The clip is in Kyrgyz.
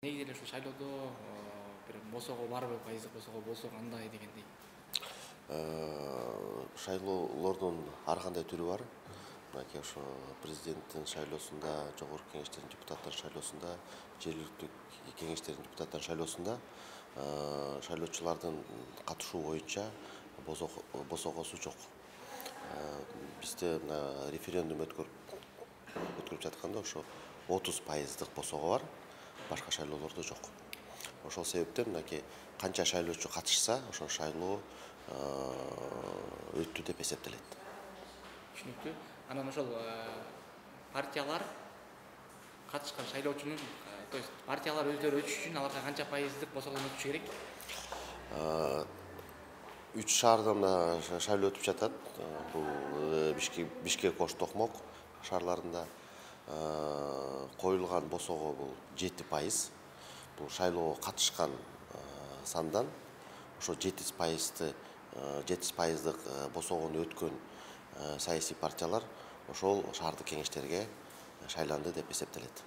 Негизи эле ушул шайлоодо бир босого барбы, пайыздык босого болсо кандай дегендей. Шайлоолордун ар кандай түрү бар. Мынакей ошо президенттин шайлоосунда, жогорку кеңештердин депутаттар шайлоосунда, жергиликтүү кеңештердин депутаттар шайлоосунда шайлоочулардын катышуу боюнча босогосу жок. Бизде мына референдум өткөрүп жатканда ошо 30% босого бар, башка шайлоолордо жок. Ошол себептен мынакей канча шайлоочу катышса, ошол шайлоо өттү деп эсептелет. Түшүнүктүү. Анан ошол партиялар катышкан шайлоочунун, то есть партиялар өздөрү өтүш үчүн аларга канча пайыздык босогодон өтүш керек? 3 шаарда мына шайлоо өтүп жатат. Бул Бишкек, Ош, Токмок шаарларында коюлган босого бул 7%. Бул шайлоого катышкан сандан ошо 7%дык босогону өткөн саясий партиялар ошол шаардык кеңештерге шайланды деп эсептелет.